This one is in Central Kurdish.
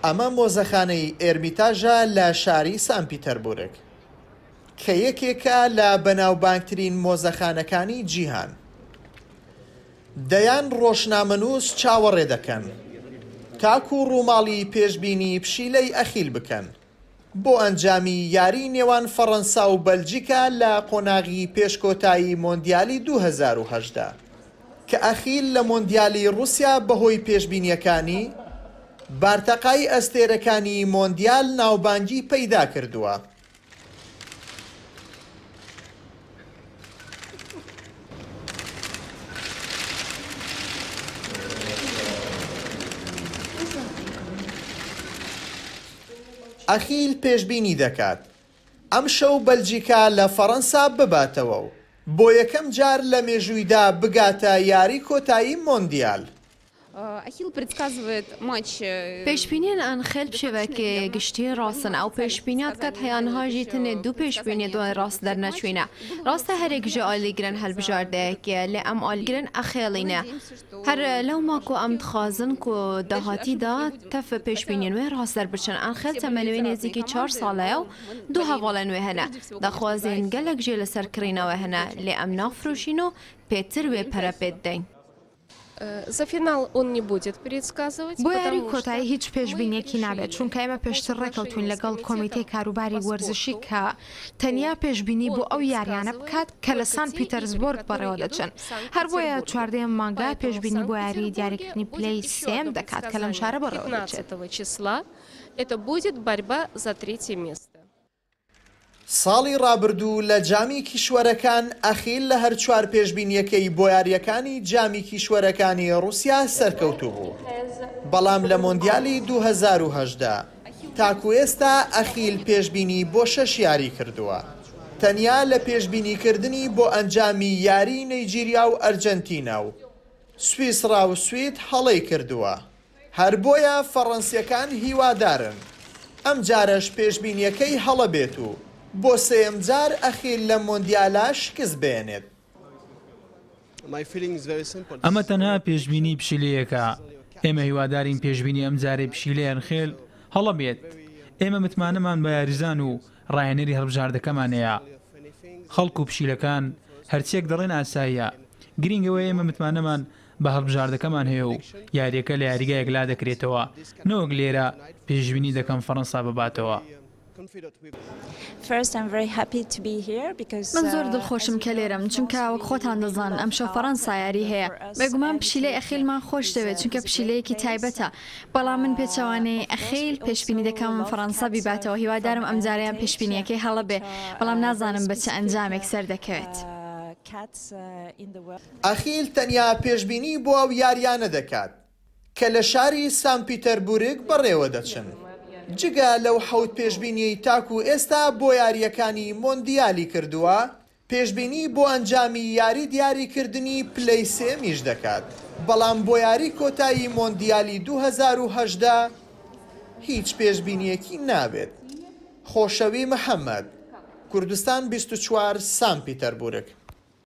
ئەمە مۆزەخانەی ئێرمیتاژە لە شاری سان پیتەربورگ، کە یەکێکە لە بەناوبانگترین مۆزەخانەکانی جیهان. دەیان ڕۆژنامەنووس چاوەڕێ دەکەن تاکو ڕووماڵی پێشبینی پشیلەی ئەخیل بکەن بۆ ئەنجامی یاری نێوان فەڕەنسا و بەلجیکا لە قۆناغی پێش کۆتایی مۆندیالی 2018 کە ئەخیل لە مۆندیالی ڕوسیا بەهۆی پێشبینیەکانی بارتەقای ئەستێرەکانی مۆندیال ناوبانگی پەیدا کردووە. ئەخیل پێشبینی دەکات ئەمشەو بەلجیکا لە فەرەنسا بباتەوە و بۆ یەکەم جار لە مێژوویدا بگاتە یاری کۆتایی مۆندیال. پێشبینیەن ئەنخێل بشێوەێ گشتی ڕاستن، ئەو پێشبینیا دکات هەیە نها ژی تنێ دوو پێشبینیە دوای ڕاست دەرنەچوینە. ڕاستە هەرێک ژە ئالیگرن هەلبژاردەیەکێ لێ ئەم ئالیگرن ئەخێڵینە. هەر لەوما کو ئەم دخوازن کو داهاتیدا تەف پێشبینیەن وێ ڕاست دەربچن. ئەنخێل تەمەنێ وێ نێزیکی چار ساڵەیە و دوو هەڤاڵێن وێ هەنە. داخوازیەن گەلەک ژێ لەسەر کڕینا وێ هەنە لێ ئەم نافرۆشین و پێتر وێ پەرە پێ ددەین. بۆ یاری کۆتایی هیچ پێشبینییەکی نابێت، چونکە ئێمە پێشتر ڕێکەوتووین لەگەڵ کۆمیتەی کاروباری وەرزشی کە تەنیا پێشبینی بۆ ئەو یارییانە بکات کە لە سان پیتەرزبۆرگ بەڕێوەدەچن، هەر بۆیە چواردەیەم مانگە پێشبینی بۆ یاریی دیاریکردنی پلەی سێیەم دەکات کە لەم شارە بەڕێوەدەچێت. ساڵی ڕابردوو لە جامی کیشوەرەکان ئەخیل لە هەر چوار پێشبینییەکەی بۆ یارییەکانی جامی کیشوەرەکانی ڕوسیا سەرکەوتوو بوو، بەڵام لە مۆندیالی 2018 تاکو ئێستا ئەخیل پێشبینی بۆ شەش یاری کردووە، تەنیا لە پێشبینیکردنی بۆ ئەنجامی یاریی نەیجیریا و ئەرجەنتینا و سویسڕا و سوید هەڵەی کردووە. هەر بۆیە فەڕەنسییەکان هیوادارن ئەمجارەش پێشبینییەکەی هەڵە بێت و بۆ سێیەم جار ئەخیل لەم مۆندیالە شکست بهێنێت. ئەمە تەنها پێشبینی پشیلەیەکە، ئێمە هیوادارین پێشبینی ئەمجارەی پشیلەی ئەنخێل هەڵە بێت، ئێمە متمانەمان بە یاریزان و ڕاهێنەری هەڵبژاردەکەمان هەیە. خەڵک و پشیلەکان هەرچیەک دەڵێن ئاساییە، گرینگ ئەوەیە ئێمە متمانەمان بە هەڵبژاردەکەمان هەیە و یارییەکە لە یاریگا یەکلا دەکرێتەوە، نەوەک لێرە پێشبینی دەکەم فەرەنسا بباتەوە. من زۆر دڵخۆشم کە لێرەم، چونکە وەک خۆتان دەزانن ئەمشەو فەرەنسا یاری هەیە. بێگومان پشیلەی ئەخیلمان خۆشدەوێت، چونکە پشیلەیەکی تایبەتە، بەڵام من پێچەوانەی ئەخیل پێشبینی دەکەم فەرەنسا بیباتەوە، هیوادارم ئەمجارەیان پێشبینییەکەی هەڵە بێ، بەڵام نازانم بە چ ئەنجامێک سەردەکەوێت. ئەخیل تەنیا پێشبینی بۆ ئەو یارییانە دەکات کە لە شاری سان پیتەربورگ بەڕێوەدەچن، جگە لەو حەوت پێشبینیەی تاکو ئێستا بۆ یارییەکانی مۆندیالی کردووە، پێشبینی بۆ ئەنجامی یاری دیاریکردنی پلەی سێیەمیش دەکات، بەڵام بۆ یاری کۆتایی مۆندیالی 2018 هیچ پێشبینییەکی نابێت. خۆشەوی محەمەد، کوردستان 24، سان پیتەربورگ.